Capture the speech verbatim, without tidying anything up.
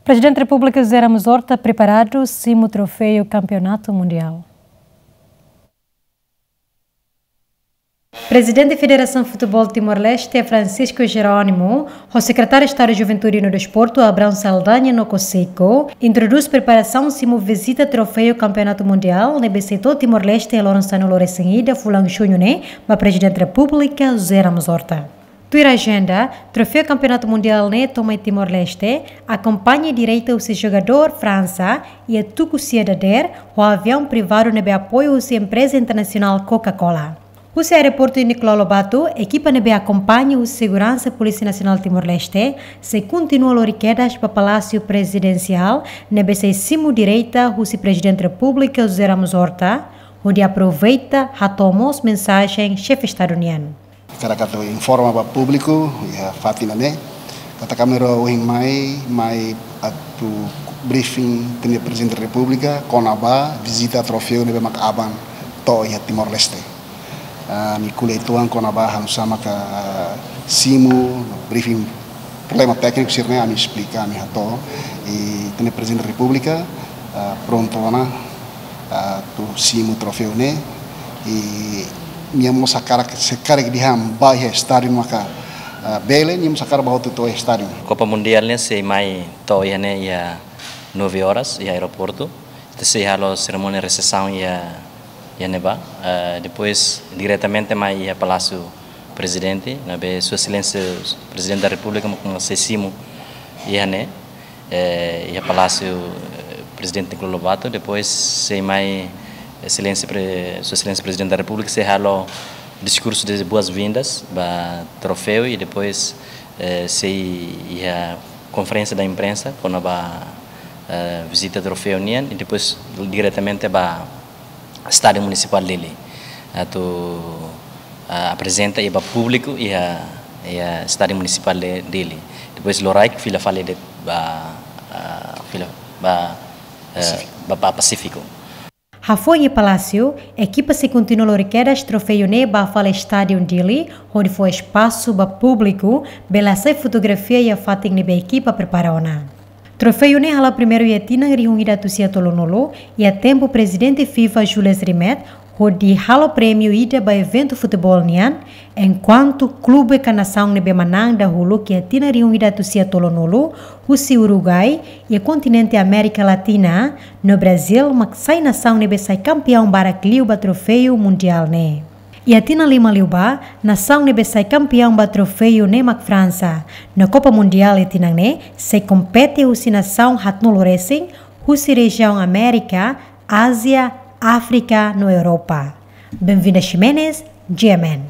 Prezidente Repúblika José Ramos Horta preparadu simu troféu Kampeonatu Mundiál. Prezidente Federasaun Futeból Timor-Leste, Francisco Jerónimo, ho Sekretáriu Estadu Juventude no Desportu, Abrão Saldanha no Cosico, introdús preparasaun simu vizita troféu Kampeonatu Mundiál ne'ebé sei to'o Timor-Leste loron sanulu-resin-ida fulan Juñu ne'e, ba Prezidente Repúblika José Ramos Horta. Tuir ajenda, troféu Kampeonatu Mundiál ne'e to'o mai Timor-Leste, akompaña direta husi jogadór Fransa, iha tuku sia dadeer, ho aviaun privadu ne'ebé apoiu husi empreza internasionál Coca-Cola. Husi aeroportu Nicolau Lobato, ekipa ne'ebé akompaña husi seguransa Polísia Nasionál Timor-Leste, sei kontinua lori kedas ba Palásiu Prezidensiál, ne'ebé sei simu direta husi Prezidente Repúblika José Ramos Horta, hodi aproveita hato'o mós mensajen Xefe Estadu nian. Hakarak atu informa ba públiku, iha fatin ne'e, katak ami rua ohin mai, mai atu briefing ita-nia Prezidente Repúblika, kona-ba vizita troféu ne'ebé mak aban to'o iha Timor-Leste. Ah, ami ko'alia uitoan kona-ba halo sama ka simu, briefing problema tékniku sira-ne'e ami esplika, ami hato'o. I ita-nia Prezidente Repúblika, ah, prontu ona, ah, atu simu troféu ne'e. I nia mós hakarak, se karik dehan bá iha estádiu maka, ah, bele, nia mós hakarak bá hotu to'o estádiu. Copa Mundial ne'e sei mai to'o iha ne'e iha nove horas, iha aeroportu. Ita sei halo serimónia resepsaun iha, iha ne'ebá. Eh, depois, diretamente mai iha Palásiu Prezidente, ne'ebé Sua Exelénsia Prezidente da Repúblika mak sei simu iha ne'e, eh, iha Palásiu, eh, Prezidente Nicolau Lobato. Depois, sei mai Exelénsia Pre-, Sua Exelénsia Prezidente da Repúblika sei halo diskursu de boas-vindas ba troféu i depois, eh, sei iha konferénsia da imprensa kona-ba, eh, vizita troféu nian i depois diretamente ba Estádiu Munisipál Dili atu, eh, aprezenta i ba públiku iha, iha Estádiu Munisipál de Dili. Depois loraik fila fali de'it ba, eh, fila ba, eh, Pasífiku. Ba, ba Pasífiku. Hafoin iha Palásiu, ekipa sei kontinua lori kedas troféu ne'e ba fali Estádiu Dili, hodi fó espasu ba públiku bele hasai fotografia iha fatin ne'ebé ekipa prepara ona. Troféu ne'e hala'o primeiru iha tinan rihun ida atus sia tolunulu, iha tempu Prezidente FIFA Jules Rimet hodi halo prémiu ida ba eventu futeból nian, enkuantu klube ka nasaun ne'ebé manán dahuluk iha tinan rihun ida atus sia tolunulu, husi Uruguai, iha kontinente Amérika Latina, no Brazíl mak sai nasaun ne'ebé sai kampeaun barak liu ba troféu mundiál ne'e. Iha tinan lima liubá, nasaun ne'ebé sai kampeaun ba troféu ne'e mak Fransa. No Copa Mundial iha tinan ne'e sei kompete husi nasaun haatnulu resin, husi rejiaun Amérika, Ázia, Áfrika no Europa. Benvinda Ximenes, G M N.